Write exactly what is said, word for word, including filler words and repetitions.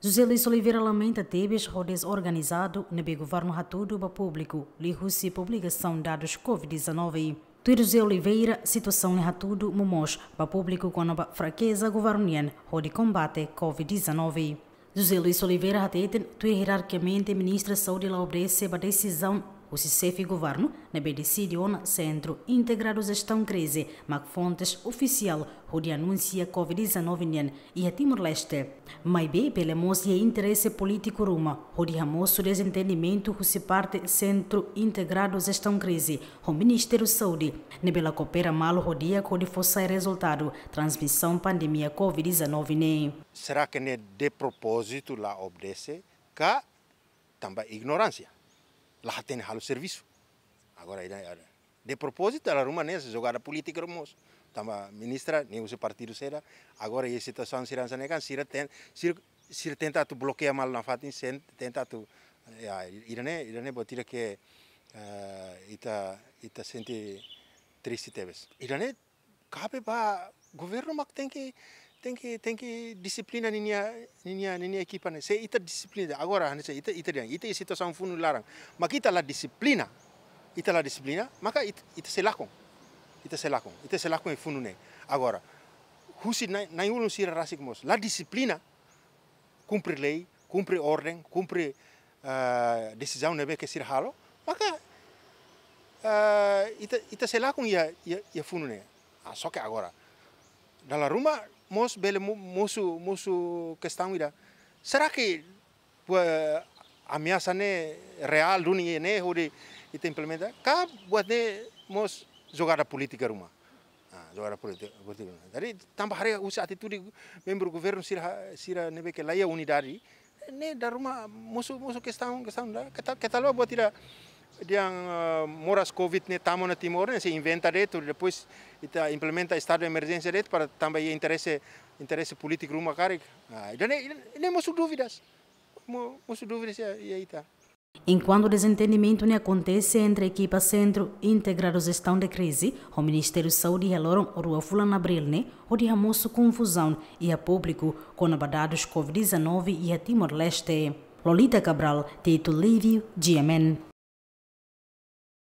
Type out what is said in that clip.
José Luis Oliveira lamenta tebes ho dezorganizadu ne'ebé governu hatudu ba públiku liuhusi publikasaun dadus COVID dezanove. Tuir José Oliveira, situasaun ne'e hatudu momoos ba públiku kona-ba frakeza governu nian hodi kombate COVID dezanove. José Luis Oliveira hateten, tuir ierarkiamente Ministra Saúde la obedese ba desizaun husi xefe governu ne'ebé deside ona Sentru Integradu Jestaun Krize mak fontes ofisiál hodi anunsia COVID dezanove nian iha Timor-Leste. Maibé bele mós iha interese polítiku ruma hodi hamosu dezentendimentu husi parte Sentru Integradu Jestaun Krize ho Ministériu Saúde, ne'ebé la koopera malu ho di'ak hodi fó sai rezultadu transmisaun pandemia COVID dezanove ne'e. Será que ne'e de propósito la obedese ka tanba ignoránsia? La hatene halo servisu. Agora, ida, ida. De propósito, dala ruma ne'e jogada polítika ruma mós. Tanba ministra, ne'e husi partidu sira. Agora, iha situasaun sira hanesan ne'e kan, sira ten, sira, sira tenta atu blokeia malu nafatin, sen, tenta atu, ya, ida-ne'e, ida-ne'e buat ida ke, eh, ita, ita sente triste tebes. Ida-ne'e kabe ba governu mak tenke, tenke, tenke dixiplina ninia, ninia, ninia ekipa ne'e. Se ita dixiplina, agora, hanesan ita, ita dehan, ita iha situasaun funu laran. Mak ita la dixiplina, ita la dixiplina, maka it-, ita sei lakon. Ita sei lakon, ita sei lakon iha funu ne'e. Agora, husi nai-, nai-ulun sira rasik mós la dixiplina, kumpre lei, kumpre orden, kumpre, ah, desizaun ne'ebé ke sira halo, maka, ah, ita, ita sei lakon iha, iha, iha funu ne'e. Ah, só ke agora, dala ruma mós bele mo-, mosu, mosu kestaun ida. Será que buat ameasa ne'e reál duni ne'e hodi ita implementa? Ka buat ne'e mós jogada polítika ruma? Ah, jogada polítika, polítika ruma. Jadi, tanba haree husi atitude membru governu sira, sira ne'ebé ke la iha unidade, ne'e dala ruma mosu, mosu kestaun, kestaun ida. Keta, keta haluha buat ida dehan, ah, moras COVID ne'e tama ona Timor ne'e, sei inventa de'it, depois ita implementa estadu de emerjénsia de'it para tanba iha interese, interese polítiku ruma karik. Ah, ida-ne'e, ida-ne'e mosu dúvidas. Mo-, mosu dúvidas iha, iha ita. Enkuantu dezentendimentu ne'e akontese entre ekipa Sentru Integradu Jestaun de Krize ho Ministériu Saúde iha loron rua fulan Abríl ne'e, hodi hamosu konfuzaun iha públiku kona-ba dadus COVID dezanove iha Timor-Leste. Lolita Cabral, Tito Lívio, G M N.